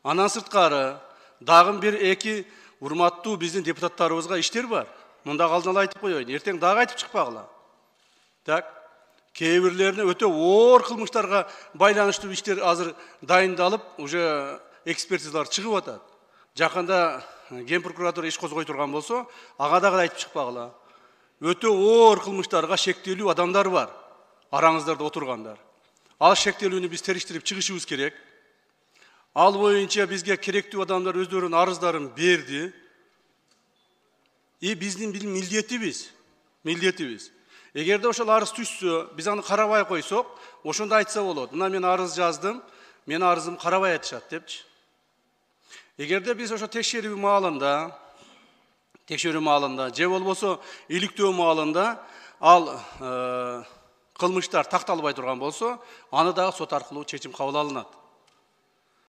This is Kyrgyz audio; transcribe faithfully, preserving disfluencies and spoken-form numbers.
Андан сырткары дагы бир эки урматтуу биздин депутаттарыбызга иштер бар. Мында алдын ала айтып коеюн. Эртең дагы айтып чыкпагыла. Так. Кээ бирлерине өтө оор кылмыштарга байланыштуу иштер азыр дайындалып, уже экспертизалар чыгып атат. Жакында Ген прокуратура иш козгой турган болсо, ага дагы айтып чыкпагыла. Өтө оор кылмыштарга шектелүү адамдар бар. Араңыздарда отургандар. Ал шектелүүнү биз териштирип чыгышыбыз керек. Ал боюнча бизге керектүү адамдар өздөрүнүн арыздарын берди. И биздин бир милдетибиз. Милдетибиз. Эгерде ошол арыз түшсө, биз аны карабай койсок, ошондо айтса болот. Мына мен арыз жаздым, мен арызым карабай атышат депчи. Эгерде биз ошо текшерүү маалында, текшерүү маалында, же болбосо иликтөө маалында ал кылмыштар такталбай турган болсо, аны дагы сот аркылуу чечим кабыл алынат.